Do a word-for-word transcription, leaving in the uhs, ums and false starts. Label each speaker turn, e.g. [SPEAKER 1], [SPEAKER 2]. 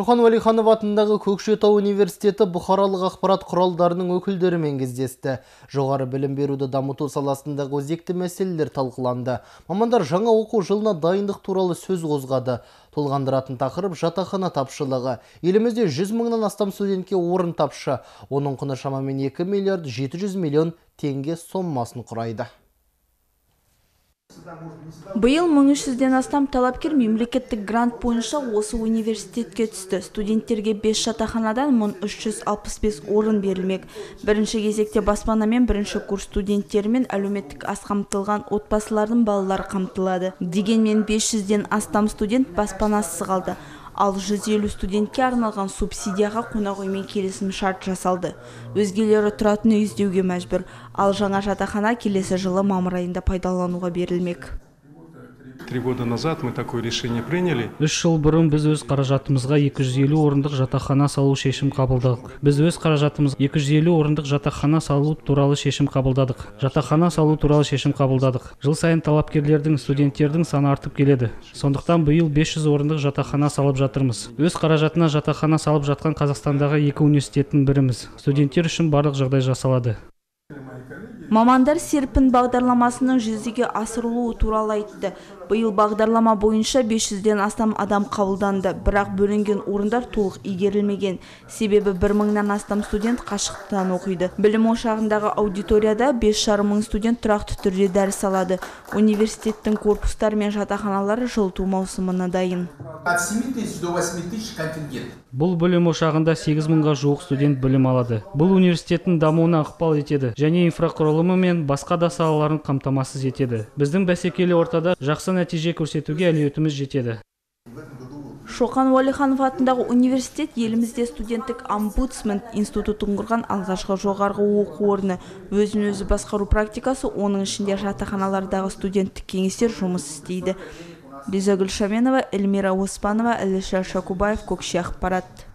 [SPEAKER 1] Шоқан Уәлиханов атындағы Көкшетау университеті бұқаралық ақпарат құралдарының өкілдерімен кездесті. Жоғары білім беруді дамыту саласындағы өзекті мәселелер талқыланды. Мамандар жаңа оқу жылына дайындық туралы сөз қозғады. Толғандыратын тақырып жатақхана тапшылығы. Елімізде жүз мыңнан астам студентке орын тапшы. Оның құны шамамен екі миллиард жеті жүз миллион теңге сомасын құрайды.
[SPEAKER 2] Биыл мың үш жүзден астам талапкер мемлекеттік грант бойынша осы университетке түсті. Студенттерге бес жатақханадан мың үш жүз алпыс бес орын берілмек. Бірінші кезекте баспанамен бірінші курс студенттері мен әлеуметтік аз қамтылған отбасылардың балалары қамтылады. Дегенмен бес жүзден астам студент баспанасыз қалды. Ал жүз елу студентке арналған субсидияға қонақүймен келісім шарт жасалды. Өзгелері тұратын үй іздеуге мәжбүр. Ал жаңа жатақхана келесі жылы мамыр айында пайдалануға берілмек.
[SPEAKER 3] Три года назад мы такое решение приняли.
[SPEAKER 4] Үш жыл бұрын біз өз қаражатымызға екі жүз елу орындық жатақхана салу шешім қабылдадық. Біз өз қаражатымыз екі жүз елу орындық жатақхана салу туралы шешім қабылдадық. Жатақхана салу туралы шешім қабылдадық. Жыл сайын талапкерлердің, студенттердің саны артып келеді. Сондықтан биыл бес жүз орындық жатақхана салып жатырмыз. Өз қаражатына жатақхана салып жатқан Қазақстандағы екі университеттің біріміз. Студенттер үшін барлық жағдай жасалады.
[SPEAKER 2] Мамандар серпін бағдарламасының жүзеге асырылуы туралы айтты. Биыл бағдарлама бойынша бес жүзден астам адам қабылданды, бірақ бөлінген орындар толық игерілмеген. Себебі бір мыңнан астам студент қашықтан оқиды. Білім ошағындағы аудиторияда бес жарым мың студент тұрақты түрде дәріс алады. Университеттің корпустары мен жатақханалары жылыту маусымына дайын.
[SPEAKER 4] Бұл білім ошағында сегіз мыңға жуық студент білім алады. Бұл университеттің дамуына ықпал етеді және инфрақұрылымы мен басқа да салаларын қамтамасыз етеді. Біздің бәсекелі ортада жақсы нәтиже көрсетуге әлеуетіміз жетеді.
[SPEAKER 2] Шоқан Уәлиханов атындағы университет елімізде студенттік омбудсмен институтын құрған алғашқы жоғарғы оқу орны. Өзін-өзі басқару практикасы, оның ішінде жатақханалардағы студенттік кеңестер жұмыс істейді. Лиза Гүлшаменова, Эльмира Оспанова, Әлішер Шакубаев, Көкше ақпарат.